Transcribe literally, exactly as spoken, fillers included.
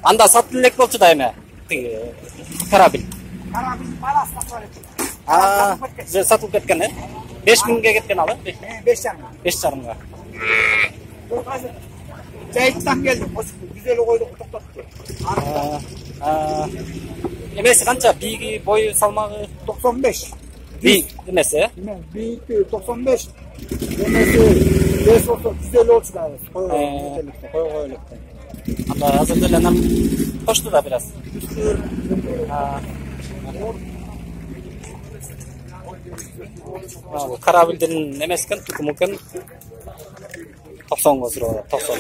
Анда сатып элек болчу да эме. Тиги карабин. Карабин баласы сатып элек. А, же сатылып кеткен, э? беш миңге кеткен ал, э? беш жарым. беш жарымга. Жайыттан келдим, жүз элүү койду токтотту. А, эмеси канча? Биги, бою, салмагы токсон беш. Би эмеси, э? Биги токсон беш. Эмеси беш болсо жүз элүү болчу да. Кой кой электе. Анда азыр деле нам кошту да бир аз. А, карабилдин эмес экен, тукуму экен. токсонго сурап, токсон.